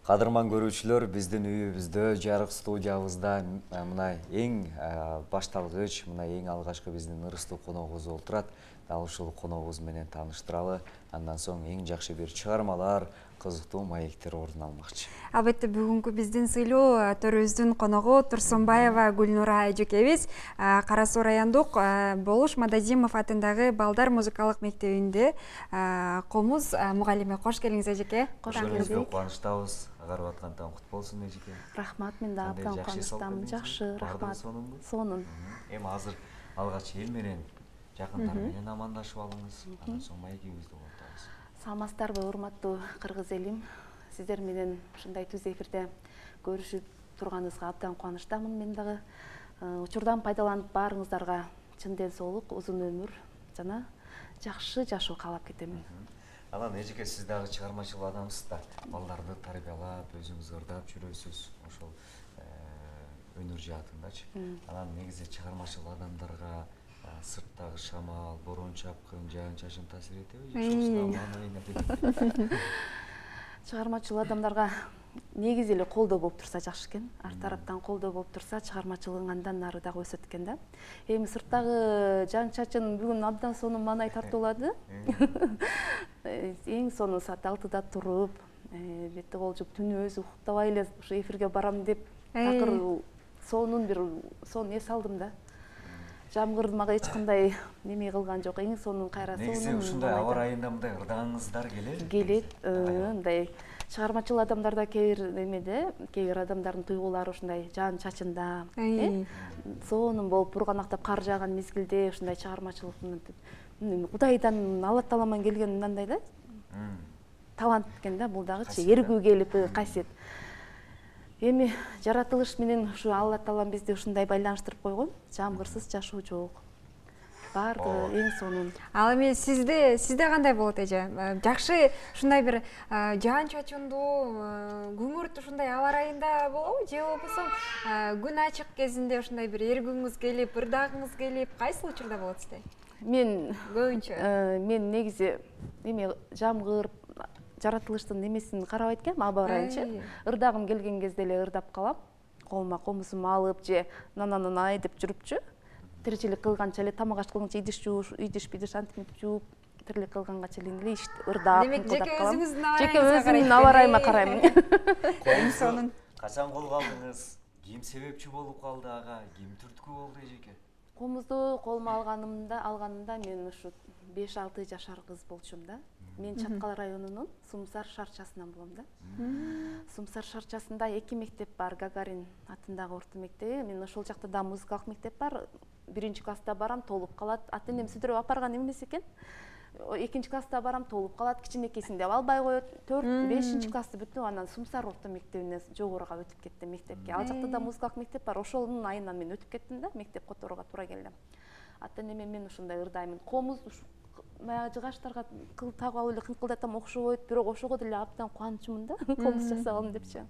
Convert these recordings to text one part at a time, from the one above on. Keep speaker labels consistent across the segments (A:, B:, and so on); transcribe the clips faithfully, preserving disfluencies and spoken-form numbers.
A: Кадырман көрүүчүлөр, биздин үйүбүздө, жарык студиябызда мына эң башталгыч, мына эң алгачкы биздин ырыстуу коногубуз олтурат. Дал ушул коногубуз менен тааныштыралы. Андан соң эң жакшы бир чыгармалар, кызыктуу маектер орун алмакчы.
B: Албетте бүгүнкү биздин сыйлуу төрүбүздүн коногу Турсунбаева Гүлнура эжекебиз. Кара Суу райондук Болуш Мадазимов атындагы Балдар музыкалык мектебинде комуз мугалими. Кош келиңиз эжеке.
A: Кош келиңиз. Кубанычтабыз. Агарып аткандан кут болсун эжеке.
C: Рахмат, мен да абдан кубанычтамын. Жакшы, рахмат. Сонун.
A: Эми азыр алгач эл менен, жакындар менен амандашып алыңыз. Андан соң маегибизди улантабыз.
C: Саламатсыздарбы, урматтуу кыргыз элим. Сиздер менен ушундай түз эфирде көрүшүп турганыбызга абдан кубанычтамын. Мен дагы учурдан пайдаланып баарыңыздарга чын ден соолук, узун өмүр жана жакшы жашоо каалап кетем.
A: Анан эжеке, сиз дагы чыгармачыл адамсыз да. Балдарды тарбиялап, өзүңүз ырдап жүрөсүз. Ошол өнөр жаатындачы. Анан негизи чыгармачыл адамдарга сырттагы шамал, борон чапкын, жаан чачын таасир этеби?
C: Чыгармачыл адамдарга негизи эле колдоо болуп турса жакшы экен. Ар тараптан колдоо болуп турса, чыгармачылыгың андан нары дагы өсөт экен да. Эми сырттагы жаан чачын бүгүн абдан сонун маанай тартуулады. Эң сонун саат алтыда туруп, бетте кол жууп, түнү өзү уктабай эле ушу эфирге барам деп такыр сонун бир сонун эс алдым да. Жамгыр мага эч кандай неме кылган жок. Эң сонун кайра сонун.
A: Негизи ушундай аба ырайында мындай ырдагыңыздар келеби?
C: Келет. Мындай чыгармачыл адамдарда кээ бир эмеде, кээ бир адамдардын туйгулары ушундай жаан чачында, сонун болуп бурганактап кар жааган мезгилде ушундай чыгармачылык Кудайдан, Алла Тааламан келген мындай да. Талант экен да, бул дагычы эргүү келип касиет. Эми жаратылыш менен ушу Алла Таалам бизди ушундай байланыштырып койгон. Жамгырсыз жашоо жок. Бардыгы эң сонун.
B: Ал эми сизде сизде кандай болот эже? Жакшы ушундай бир жаан чачындуу, күңүрт ушундай аба ырайында болобу, же болбосо күн ачык кезинде ушундай бир эргүүңүз келип, ырдагыңыз келип, кайсыл учурда болот сизде?
C: Мен
B: көбүнчө
C: мен негизи эме жамгыр жаратылыштын немесин карабайт экенмин, аба ырайынчы. Ырдагым келген кезде эле ырдап калам. Колума комузумду алып же нанананай деп жүрүпчү. Тиричилик кылганча эле тамак аш кылганча идиш жууш, идиш бидиш антип жууп, тирилик кылганга чейин эле ырдап,
B: демек жеке өзүңүздүн
C: жеке өзүмдүн аба ырайыма карайм.
B: Эң сонун.
A: Качан колго алдыңыз? Ким себепчи болуп калды ага? Ким түрткү болду эжеке?
C: Комузду колума алганымда, алганымда мен ушу беш алты жашар кыз болчумун да. Мен Чаткал районунун Сумсар шарчасынан болом да. Сумсар шарчасында эки мектеп бар, Гагарин атындагы орто мектеби. Мен ошол жакта да музыкалык мектеп бар. Биринчи класста барам, толуп калат. Ата-энем сүдүрүп апарган эмес экен. Экинчи класста барам, толуп калат. Кичинекейсинде албай коет. төрт, бешинчи классты бүтүп, анан Сумсар орто мектебине жогоруга өтүп кеттим мектепке. Ал жакта да музыкалык мектеп бар. Ошонун айынан мен өтүп кеттим да, мектеп которууга туура келди. Ата-энеме мен ушундай ырдаймын. Комуз баягы жыгачтарга кыл тагып алып эле кыңкылдатам окшобойт, бирок ошого деле абдан кубанычмын да, комуз жасагалым депчи.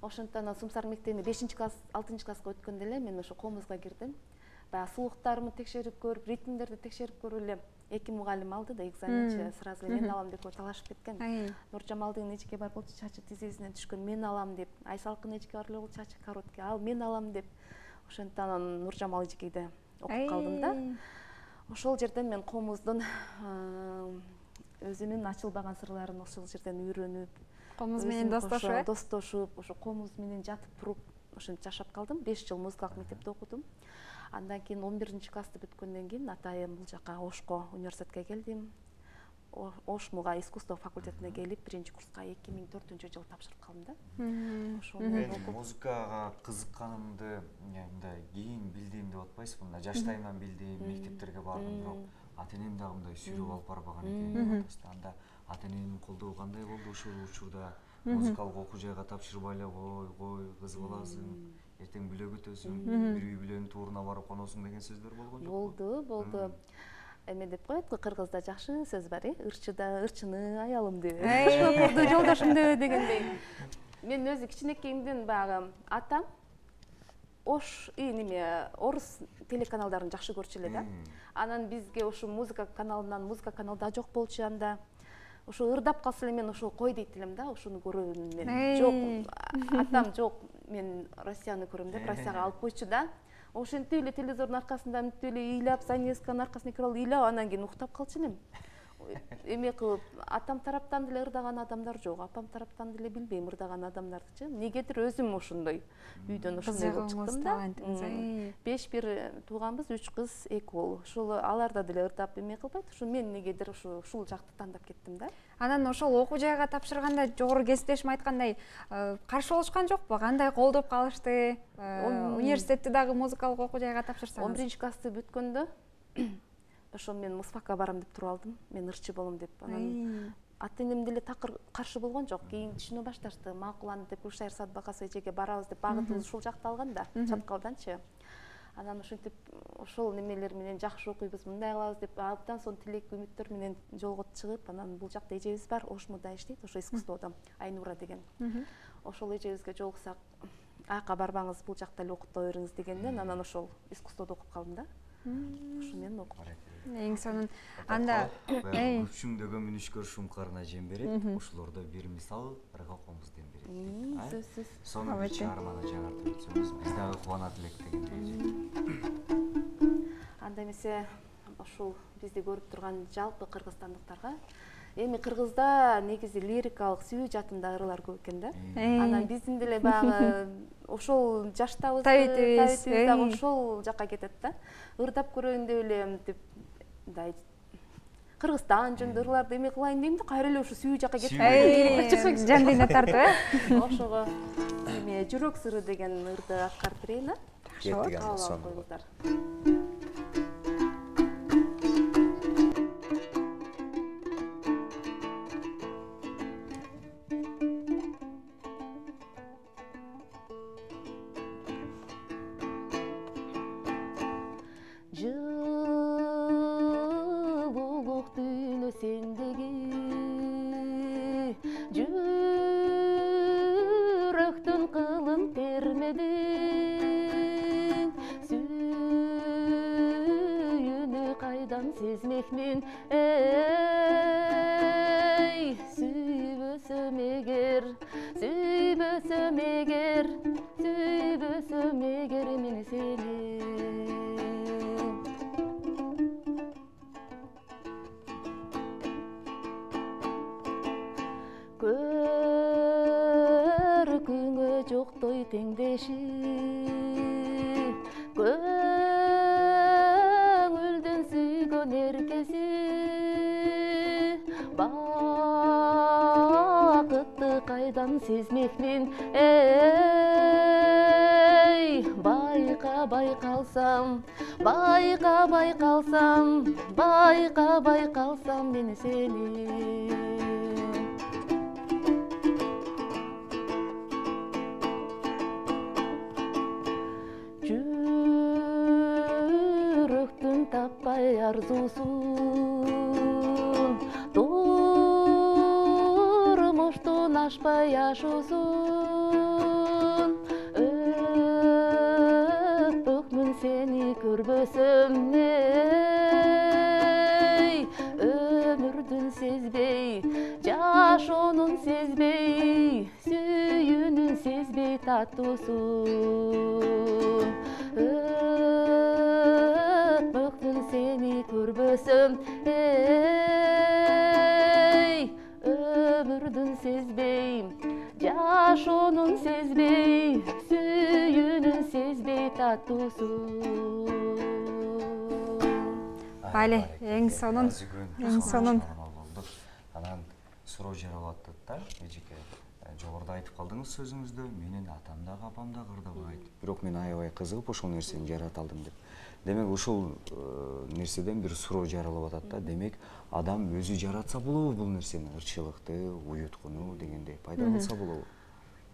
C: Ошондон Сумсар мектебине бешинчи класс, алтынчы класска өткөндө эле мен ошо комузга кирдим. Баягы сулуктарымды текшерип көрүп, ритмдерди текшерип көрүп эле эки мугалим алды да, экзаменчи сразу эле мен алам деп талашып кеткен. Нуржамалдын эжеке бар болчу, чачы тизесинен түшкөн, мен алам деп. Айсалкын эжеке бар эле болчу, чачы короткий, ал мен алам деп. Ошондон Нуржамал эжекейде окуп калдым да. Ошол жерден мен комуздун өзүнүн ачылбаган сырларын ошол жерден үйрөнүп,
B: комуз менен достошуп,
C: достошуп, ошо комуз менен жатып туруп, ошентип жашап калдым. беш жыл музыкалык мектепте окудум. Андан кийин он биринчи классты бүткөндөн кийин атайын бул жака Ошко университетке келдим. Ошмуга искусство факультетине келип, биринчи курска эки миң төртүнчү жылы тапшырып калдым да.
A: Ошол музыкага кызыкканымды мындай кийин билдим деп атпайсызбы? Мына жаштайымдан билдим, мектептерге бардым, бирок ата-энем дагы мындай сүйрөп алып барбаган экен деп атасыз. Анда ата-эненин колдоо кандай болду ошол учурда? Музыкалык окуу жайга тапшырбай эле кой, кой, кыз баласың, эртең бүлөк өтөсүң, бир үй бүлөнүн тууруна барып коносуң деген сөздөр болгон жокпу?
C: Болду, болду. Эме деп коет го, кыргызда жакшы сөз бар, э? Ырчыда ырчыны аялым деп. Шопурду жолдошум деп дегендей. Мен өзү кичинекейимден баягы атам Ош неме орус телеканалдарын жакшы көрчү эле да. Анан бизге ушу музыка каналынан, музыка каналда жок болчу анда. ошо ырдап калса эле мен ошол кой дейт элем да, ошону көрөм мен. Жок, атам жок, мен Россияны көрөм деп Россияга алып койчу да. Ошентип эле телевизордун аркасында мынтип эле ыйлап, занесканын аркасына кирип алып ыйлап, анан кийин уктап калчу элем. Эме кылып, атам тараптан деле ырдаган адамдар жок, апам тараптан деле билбейм ырдаган адамдарды. Негедир өзүм ошондой үйдөн ошондой болуп чыктым да. Беш бир тууганбыз, үч кыз, эки уул. Ошол аларда деле ырдап эме кылбайт. Ошо мен негедир ошо ушул жакты тандап кеттим да.
B: Анан ошол окуу жайга тапшырганда жогору кесиптешим айткандай каршы болушкан жокпу? Кандай колдоп калышты? Университетти дагы музыкалык окуу жайга тапшырсаңыз.
C: он биринчи классты бүткөндө ошо мен мусфакка барам деп туруп алдым. Мен ырчы болом деп. Анан ата-энем деле такыр каршы болгон жок. Кийин түшүнө башташты. Макуланды деп Гүлшайыр Садбакасов эжеге барабыз деп багытыбыз ушул жакта алган да, Чаткалданчы. Анан ошентип ошол немелер менен жакшы окуйбуз, мындай кылабыз деп абдан сонун тилек үмүттөр менен жолго чыгып, анан бул жакта эжебиз бар, Ошмуда иштейт, ошо искусстводо, Айнура деген. Ошол эжебизге жолуксак, аяка барбаңыз, бул жакта эле окута бериңиз дегенден, анан ошол искусстводо окуп калдым да. Ошо менен окуп.
B: Эң сонун. Анда
A: күчүңдөгөн мүнүшкөр шумкарына жем берет, ошолордо бир мисал ырга комузден берет.
C: Сөзсүз.
A: Сону бир чыгарманы жаңыртып өтсөңүз, биз дагы кубанат элек дегендей.
C: Анда эмесе ушул бизди көрүп турган жалпы кыргызстандыктарга, эми кыргызда негизи лирикалык сүйүү жатында ырылар көп экен да. Анан биздин деле баягы ошол жаштабыз, табитибиз дагы ошол жакка кетет да. Ырдап көрөйүн деп эле мынтип мындай Кыргызстан жөнүндө ырларды эме кылайын дейм да, кайра эле ошо сүйүү жакка кетип
B: жан дүйнө тартып, э?
C: Ошого эме жүрөк сыры деген ырды аткарып берейин, а?
A: Кеттик анда сонун.
C: Сезмекмин, эй, сүйбөсөм эгер, сүйбөсөм эгер, сүйбөсөм эгер мен сени. Көркүңө жоктой теңдеши, эркеси бакытты кайдан сезмекмин, эй, байка байкалсам, байка байкалсам, байка байкалсам мен сени. Таппай арзусун, турмуштун ашпай ашуусун, өппөкмүн сени көрбөсөм, эй, өмүрдүн сезбей, жашоонун сезбей, сүйүүнүн сезбей таттуусун, сени көрбөсөm, эй, өмүрдүн сезбей, жашоонун сезбей, сүйүүнүн сезбей таттуусун.
B: Бали, эң сонун, эң сонун.
A: Анан суроо жаралып атат да, эжеке. Жогоруда айтып калдыңыз сөзүңүздө, менин атам дагы апам дагы ырдабайт. Бирок мен аябай кызыгып ошол нерсени жарата алдым деп. Демек ушул нерседен бир суроо жаралып атат да. Демек адам өзү жаратса болобу бул нерсени, ырчылыкты, уюткуну дегендей пайда кылса болобу?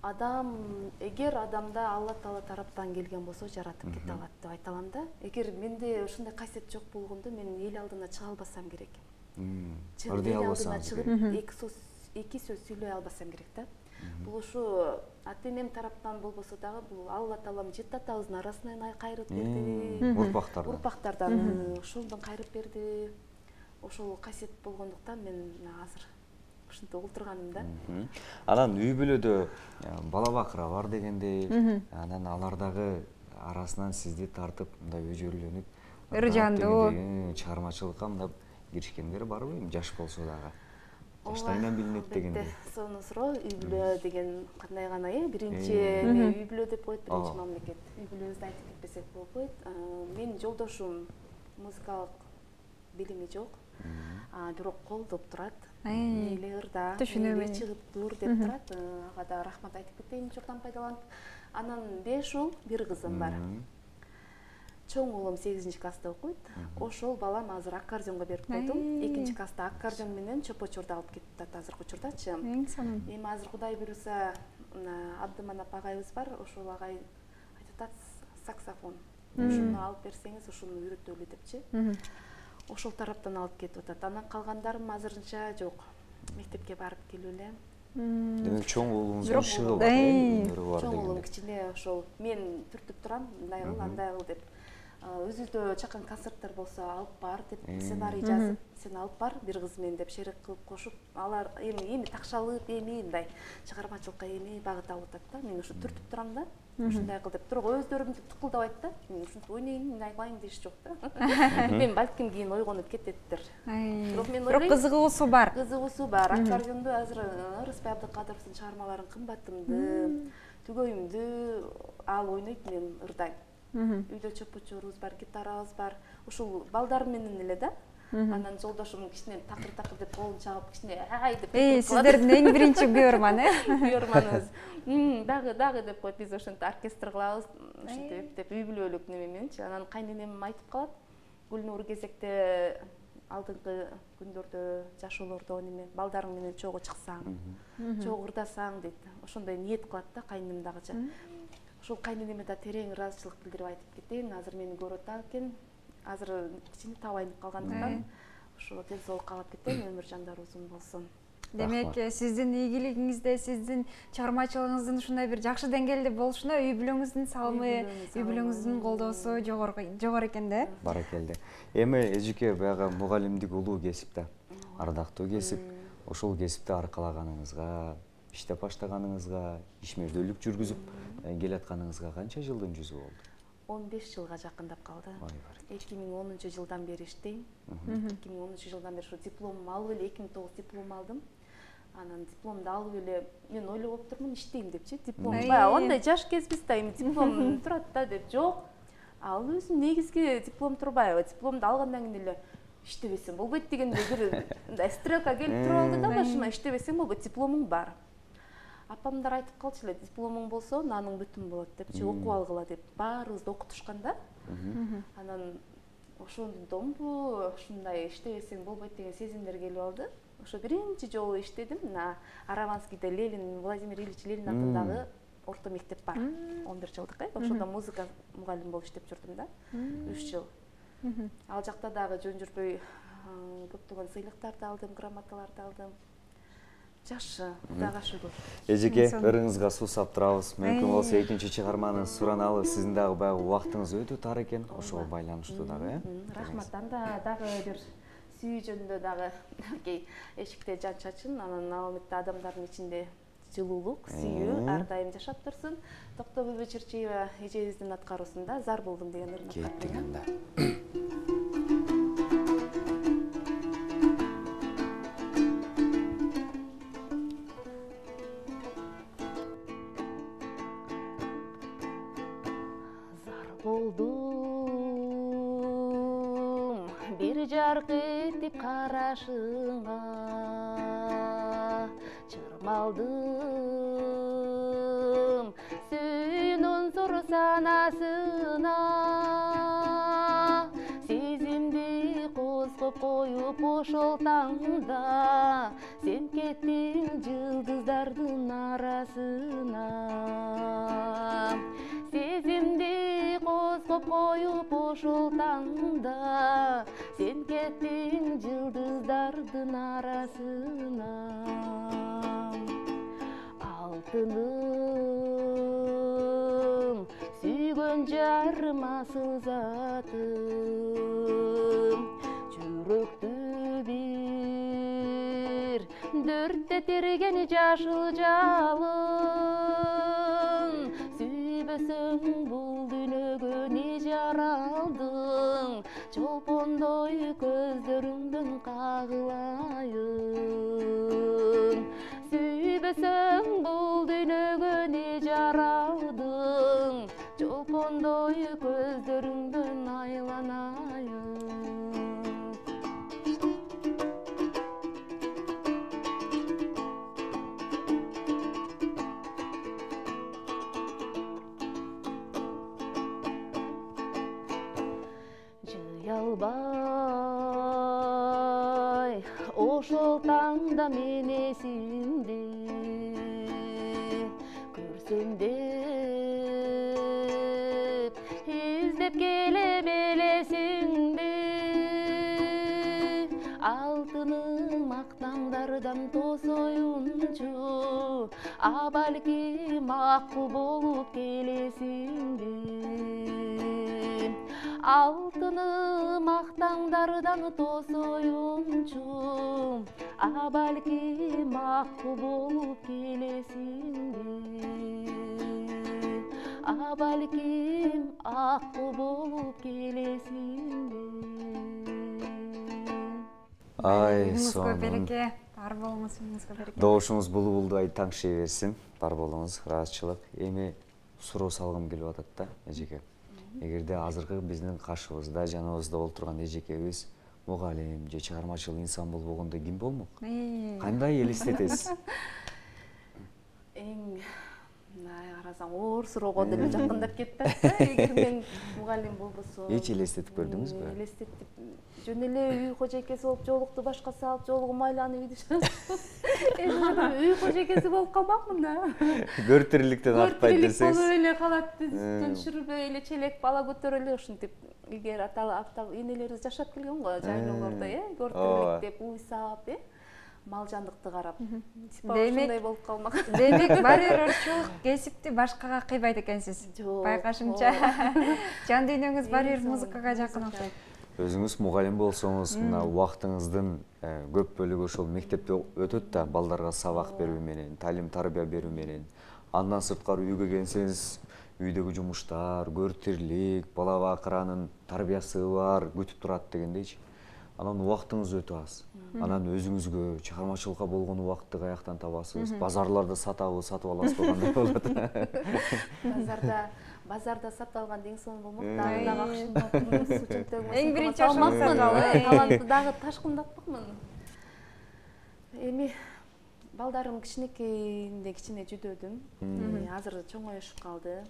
C: Адам, эгер адамда Алла Таала тараптан келген болсо жаратып кете алат деп айта алам да. Эгер менде ушундай касиет жок болгондо мен эл алдына чыга албасам керек.
A: Ырдый албасам керек.
C: Эки сөз сүйлөй албасам керек да. Бул ушу ата-энем тараптан болбосо дагы бул Алла Таалам жети атабыздын арасынан кайрып берди.
A: Урпактардан.
C: Урпактардан ошондон кайрып берди. Ошол касиет болгондуктан мен азыр ушинтип олтурганым да.
A: Анан үй бүлөдө бала бакыра бар дегендей, анан алар дагы арасынан сизди тартып мындай өжөрлөнүп,
B: ыр жандуу
A: чыгармачылыкка мындай киришкендер барбы? Эми жаш болсо дагы. Жаштайынан билинет дегендей.
C: Сонун суроо. Үй бүлө деген кандай гана э? Биринчи үй бүлө деп коет, биринчи мамлекет. Үй бүлөбүздү айтып кетпесек болбойт. Менин жолдошум музыкалык билими жок. А бирок колдоп турат. Мейли ырда, мейли чыгып тур деп турат. Ага да рахмат айтып кетейин журдан пайдаланып. Анан беш уул, бир кызым бар. Чоң уулум сегизинчи класста окуйт. Ошол балам азыр аккордеонго берип койдум. экинчи класста аккордеон менен чопочорду алып кетип атат азыркы учурдачы.
B: Эң сонун.
C: Эми азыр Кудай буйруса Абдыманап агайыбыз бар. Ошол агай айтып атат саксофон. Ушуну алып берсеңиз, ушуну үйрөтөлү депчи. Ошол тараптан алып кетип атат. Анан калгандарым азырынча жок. Мектепке барып келип эле.
A: Демек чоң уулуңуздун ишиги бар, өнөрү бар
C: Чоң уулум
A: дегендей.
C: кичине ошол мен түртүп турам, мындай кыл, андай кыл деп. Өзүдө чакан концерттер болсо алып бар деп сценарий жазып, сен алып бар бир кыз менен деп шерек кылып кошуп, алар эми эми такшалып, эми мындай чыгармачылыкка эми багыт алып атат да. Мен ушу түртүп турам да. Ушундай кыл деп туруп өздөрүм тукулдабайт да. Мен ушинтип ойнойм, мындай кылайын деш жок да. Мен балким кийин ойгонуп кететтир.
B: Бирок мен ойлойм, бирок кызыгуусу бар.
C: Кызыгуусу бар. Аккордеонду азыр Рыспай Абдыкадыровдун чыгармаларын кымбатымды, түгөйүмдү ал ойнойт, мен ырдайм. Үйдө чопочорубуз бар, гитарабыз бар. Ушул балдар менен эле да. Анан жолдошум кичине такыр-такыр деп колун чагып, кичине ай деп.
B: Эй, сиздердин эң биринчи күйөрман, э?
C: Күйөрманыбыз. Дагы, дагы деп коет, биз ошентип оркестр кылабыз, ушинтип деп үй бүлөлүк неме мененчи. Анан кайненем айтып калат, Гүлнур кезекте алдыңкы күндөрдө жашоолордо неме балдарың менен чогуу чыксаң, чогуу ырдасаң дейт. Ошондой ниет кылат да кайненем дагыча. Ошол кайненеме да терең ыраазычылык билдирип айтып кетейин. Азыр мени көрүп атат экен. Азыр кичине табайынып калгандыктан ошо тез болуп калып кетем, өмүр жандар узун болсун.
B: Демек, сиздин ийгилигиңизде, сиздин чыгармачылыгыңыздын ушундай бир жакшы деңгээлде болушуна үй бүлөңүздүн салымы, үй бүлөңүздүн колдоосу жогору жогору экен да.
A: Баракелде. Эми эжеке баягы мугалимдик улуу кесип да, ардактуу кесип, ошол кесипти аркалаганыңызга, иштеп баштаганыңызга, ишмердүүлүк жүргүзүп келатканыңызга канча жылдын жүзү болду?
C: он беш жылга жакындап калды. эки миң онунчу жылдан бери иштейм. эки миң онунчу жылдан бери ушу дипломумду алып эле эки миң тогуз диплом алдым. Анан дипломду алып эле мен ойлоп отурмун иштейм депчи. Диплом баягы андай жаш кезбиз да, эми диплом турат да деп. Жок. Ал өзү негизги диплом турбайбы? Дипломду алгандан кийин эле иштебесем болбойт дегендей бир мындай стрелка келип туруп алды да башыма. Иштебесем болбойт, дипломуң бар. Апамдар айтып калчу эле, дипломуң болсо, наның бүтүн болот депчи, окуп алгыла деп. Баарыбызды окутушкан да. Анан ошондонбу ушундай иштебесең болбойт деген сезимдер келип алды. Ошо биринчи жолу иштедим. Мына Араванскийде Ленин, Владимир Ильич Ленин атындагы орто мектеп бар. он бир жылдык, э? Ошондо музыка мугалим болуп иштеп жүрдүм да. үч жыл. Ал жакта дагы жөн жүрбөй көптөгөн сыйлыктарды алдым, грамоталарды алдым. Жакшы, Кудайга шүгүр.
A: Эжеке, ырыңызга суусап турабыз. Мүмкүн болсо экинчи чыгарманы сураналы. Сиздин дагы баягы убактыңыз өтө тар экен. Ошого байланыштуу дагы, э?
C: Рахмат. Анда дагы бир сүйүү жөнүндө дагы кей эшикте жан чачын, анан ал эметте адамдардын ичинде жылуулук, сүйүү ар дайым жашап турсун. Токтогүл Чирчиева эжебиздин аткаруусунда Зар болдум деген ырын
A: кеттик анда.
C: Болдум бир жарк этип карашыңа, чырмалдым сүйүүнүн зор санасына, сезимди козгоп коюп ошол таңда, сен кеттиң жылдыздардын арасына. Сезимди козгоп коюп ошол таңда, сен кеттиң жылдыздардын арасына. Алтыным, сүйгөн жарым асыл затым, жүрөктү бир дүрттетирген жашыл жалын, сүйбөсөң бул дүйнөгө не жаралдың, чолпондой көздөрүңдөн кагылайын. Сүйбөсөң бул дүйнөгө не жаралдың, чолпондой көздөрүңдөн айланайын. Албай ошол таңда мен эсимди көрсөм деп издеп келем элесиңди. Алтыным актаңдардан тосоюнчу, а балким акку болуп келесиңди. Алтыным актаңдардан тосоюнчу, а балким акку болуп келесиңди. А балким акку болуп келесиңди.
A: Ай,
B: сонун. Береке, бар болуңуз, өмүрүңүзгө береке.
A: Добушуңуз булбулдай таңшый берсин, бар болуңуз, ыраазычылык. Эми суроо салгым келип атат да, эжеке. Эгерде азыркы биздин каршыбызда, жаныбызда отурган эжекебиз мугалим же чыгармачыл инсан болбогондо ким болмок? Кандай элестетесиз?
C: Эң карасаң оор суроого деле жакындап кетти да. Эгер мен мугалим болбосом,
A: эч элестетип көрдүңүзбү?
C: Элестетип, жөн эле үй кожойкеси болуп жолукту башка салып, жолугу майланып үйдү чыгып. Үй кожойкеси болуп калмакмын да.
A: Көр тириликтен артпайт десеңиз.
C: Болуп эле калат, түншүрбөй эле челек бала көтөрө эле ушинтип илгери ата энелерибиз жашап келген го жайлоолордо, э, көр тирилик деп уйсап, э, мал жандыкты карап. Ушундай болуп калмак.
B: Демек, бар бир ырчуулук кесипти башкага кыйбайт экенсиз. Байкашымча. Жан дүйнөңүз бар бир музыкага жакын окшойт.
A: Өзүңүз мугалим болсоңуз, мына убактыңыздын көп бөлүгү ошол мектепте өтөт да, балдарга сабак берүү менен, талим тарбия берүү менен. Андан сырткары үйгө келсеңиз, үйдөгү жумуштар, көр тирилик, бала бакыранын тарбиясы бар, күтүп турат дегендейчи. Анан убактыңыз өтө аз. Анан өзүңүзгө чыгармачылыкка болгон убакытты каяктан табасыз? Базарларда сатабы, сатып аласыз кандай болот?
C: Базарда базарда сатып алган эң сонун болмок. Дагы дагы акшындатмын, суу чөнтөгүмө.
B: Эң биринчи ошону
C: талантты дагы ташкындатпакмын. Эми балдарым кичинекейинде кичине жүдөдүм. Азыр чоңоюшуп калды.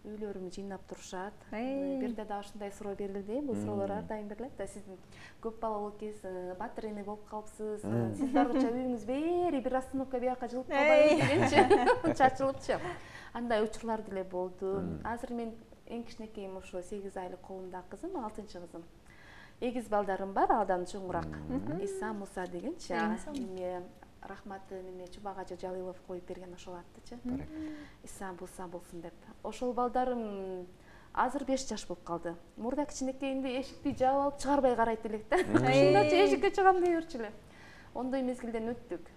C: Үйлөрүмү жыйнап турушат. Бирде да ушундай суроо берилди. Бул суроолор ар дайым берилет да. Сиздин көп балалуу экенсиз, батыр эне болуп калыпсыз. Сиз баргыча үйүңүз бери бир остановка бияка жылып калбайбы дегенчи. Чачылыпчы. Андай учурлар деле болду. Азыр мен эң кичинекейим ошо сегиз айлык колумдагы кызым, алтынчы кызым. Эгиз балдарым бар, алдан чоңураак. Иса, Муса дегенчи. Эми рахматы неме Чубагажы Жалилов коюп берген ошол аттычы. Иса Муса болсун деп. Ошол балдарым азыр беш жаш болуп калды. Мурда кичинекейинде эшикти жаап алып чыгарбай карайт элек да. Ушундачы эшикке чыгам дей берчү эле. Ондой мезгилден өттүк.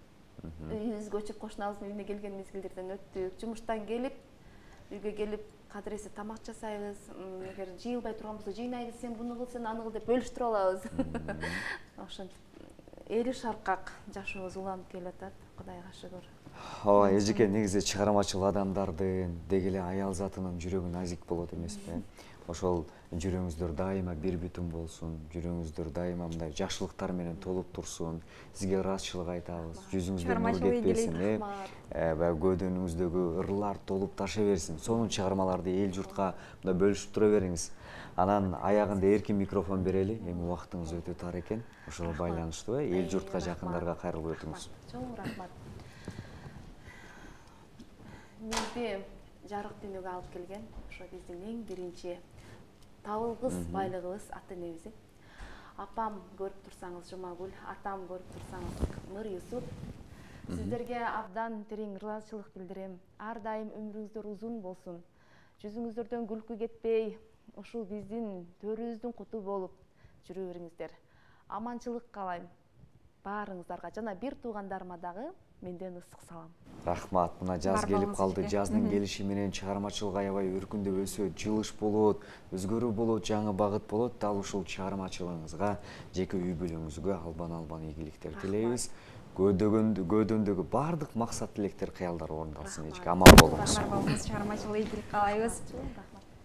C: Үйүбүзгө көчүп кошунабыздын үйүнө келген мезгилдерден өттүк. Жумуштан келип, үйгө келип кадыресе тамак жасайбыз. Эгер жыйылбай турган болсо жыйнайбыз, сен буну кыл, сен аны кыл деп бөлүштүрүп алабыз. Ошентип эри шаркак жашообуз уланып келатат, Кудайга шүгүр.
A: Ооба, эжеке, негизи чыгармачыл адамдардын деги эле аял затынын жүрөгү назик болот эмеспи? Ошол жүрөгүңүздөр дайыма бир бүтүн болсун, жүрөгүңүздөр дайыма мындай жакшылыктар менен толуп турсун. Сизге ыраазычылык айтабыз. Жүзүңүздөн нур кетпесин, э? Баягы көөдөнүңүздөгү ырлар толуп таша берсин. Сонун чыгармаларды эл журтка мындай бөлүшүп тура бериңиз. Анан аягында эркин микрофон берели. Эми убактыңыз өтө тар экен. Ошого байланыштуу, э? Эл журтка жакындарга кайрылып өтүңүз.
C: Чоң рахмат. Мезди жарык дүйнөгө алып келген ошо биздин эң биринчи табылгыс байлыгыбыз ата энебиз. Апам көрүп турсаңыз Жумагүл, атам көрүп турсаңыз Нур Юсуп. Сиздерге абдан терең ыраазычылык билдирем. Ар дайым өмүрүңүздөр узун болсун. Жүзүңүздөрдөн күлкү кетпей, ушул биздин төрүбүздүн куту болуп жүрө бериңиздер. Аманчылык каалайм. баарыңыздарга жана бир туугандарыма дагы менден ысык салам.
A: Рахмат. Мына жаз
B: Бар
A: келип
B: болуңуз
A: калды.
B: эже.
A: Жаздын келиши менен чыгармачылык аябай өркүндөп өсөт, жылыш болот, өзгөрүү болот, жаңы багыт болот. Дал ушул чыгармачылыгыңызга, жеке үй бүлөңүзгө албан-албан ийгиликтер тилейбиз. Көөдөндөгү бардык максат тилектер, кыялдар орундалсын эже. Аман болуңуз.
B: Бар болуңуз, чыгармачылык ийгилик каалайбыз.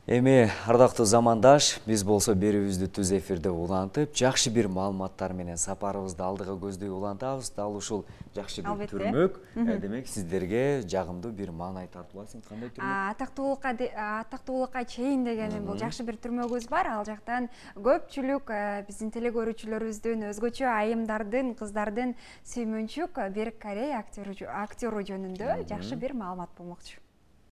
A: Эми ардактуу замандаш, биз болсо берүүбүздү түз эфирде улантып, жакшы бир маалыматтар менен сапарыбызды алдыга көздөй улантабыз. Дал ушул жакшы бир
B: Албетте.
A: түрмөк, демек сиздерге жагымдуу бир маанай тартып алсын. Кандай түрмөк?
B: Атактуулукка атактуулукка чейин деген бул жакшы бир түрмөгүбүз бар. Ал жактан көпчүлүк биздин теле көрүүчүлөрүбүздүн өзгөчө айымдардын, кыздардын сүймөнчүк Берик Корей актеру жөнүндө жакшы бир маалымат болмокчу.